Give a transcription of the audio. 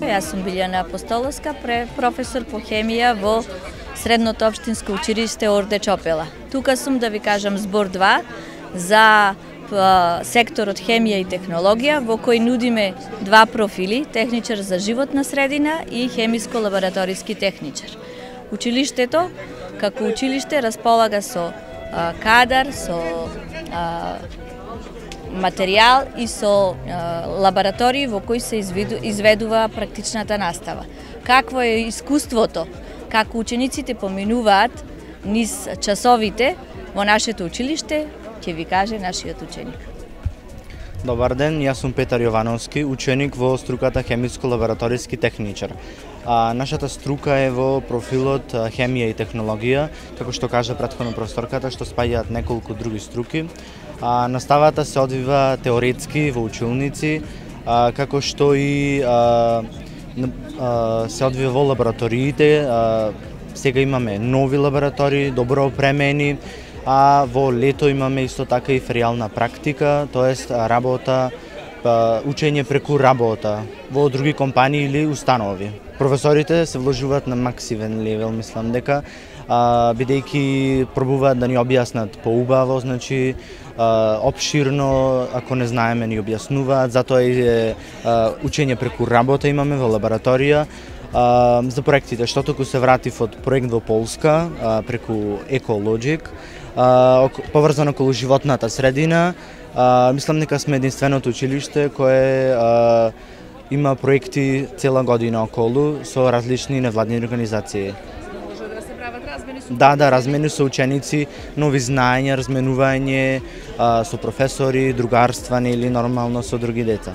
Јас сум Билјана Апостоловска, професор по хемија во Средното општинско училиште Орде Чопела. Тука сум да ви кажам збор 2 за секторот хемија и технологија, во кој нудиме два профили, техничар за животна средина и хемиско-лабораториски техничар. Училиштето, како училиште, располага со кадар, со материјал и со лаборатории во кои се изведува практичната настава. Какво е искуството, како учениците поминуваат низ часовите во нашето училиште, ќе ви каже нашиот ученик. Добар ден, јас сум Петар Јовановски, ученик во струката хемиско-лабораториски техничар. Нашата струка е во профилот хемија и технологија, како што кажа претходно професорката, што спаѓаат неколку други струки. Наставата се одвива теоретски во училници, како што и се одвива во лабораториите. Сега имаме нови лаборатории, добро опремени, а во лето имаме исто така и феријална практика, тоест работа, учење преку работа во други компании или установи. Професорите се вложуваат на максивен левел, мислам дека, бидејќи пробуваат да ни објаснат поубаво, значи опширно, ако не знаеме ни објаснуваат, затоа и учење преку работа имаме во лабораторија. За проектите, што току се вратив од проект во Полска преку Екологик, поврзано околу животната средина. Мислам дека сме единственото училиште кое има проекти цела година околу со различни невладини организации. Може да се прават размени со Да, размени со ученици, нови знаења, разменување со професори, другарства или нормално со други деца.